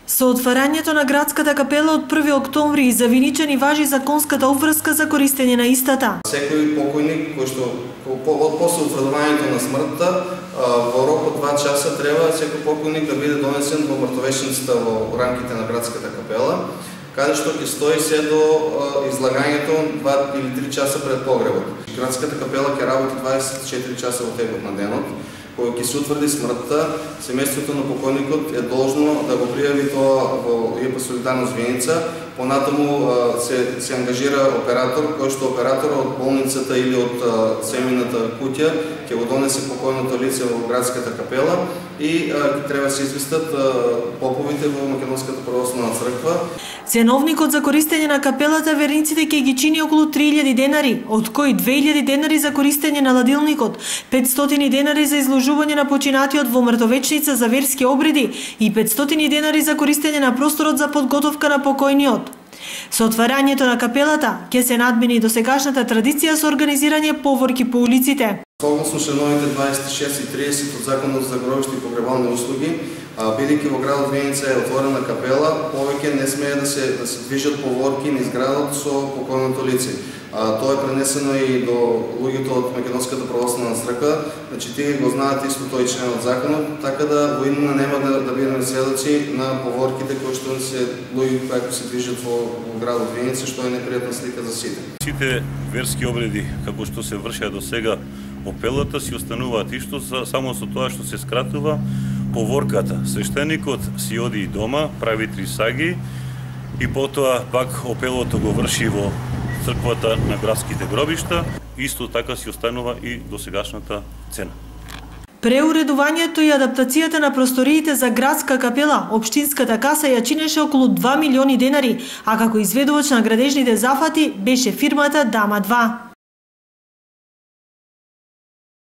Со отварањето на градската капела од 1 октомври за Виничани важи законската обврска за користење на истата. Секој покојник кој што после утврдувањето на смртта во рок од 2 часа треба секој покојник да биде донесен во мртовешницата во рамките на градската капела, каде што ќе стои се до излагањето 2 или 3 часа пред погребот. Градската капела ќе работи 24 часа во текот на денот. Кога ќе се утврди смртта, семејството на покојникот е должно да го пријави тоа во ИП Солидарност Виница. Понатаму се ангажира оператор, кој што операторот од болницата или од семејната куќа ќе го донесе покојното лице во градската капела и треба да се известат поповите во Македонската православна црква. Ценовникот за користење на капелата верниците ќе ги чини околу 3000 денари, од кои 2000 денари за користење на ладилникот, 500 денари за изложување на починатиот во мртовечница за верски обреди и 500 денари за користење на просторот за подготовка на покојниот. Со отварањето на капелата ќе се надмени досегашната традиција со организирање поворки по улиците. Согласно членовите 26 и 30 од Законот за гробиште и погребални услуги, бидејќи во градот Виница е отворена капела, повеќе не смее да се движат поворки низ градот со покојното лице. Тоа е пренесено и до луѓето од Македонската православна црква, значи тие го знаат исто тој член од законот, така да во иднина нема да бидеме сведоци на поворките кои што се луѓе кои се движат во градот Виница, што е непријатна слика за сите. Сите верски обреди како што се вршеа до сега во пелата си остануваат исто, само со тоа што се скратува поворката. Свештеникот си оди и дома, прави 3 саги и потоа пак опелото го врши во црквата на градските гробишта, исто така си останува и досегашната цена. Преуредувањето и адаптацијата на просториите за градска капела, општинската каса ја чинеше околу 2 милиони денари, а како изведувач на градежните зафати беше фирмата Дама 2.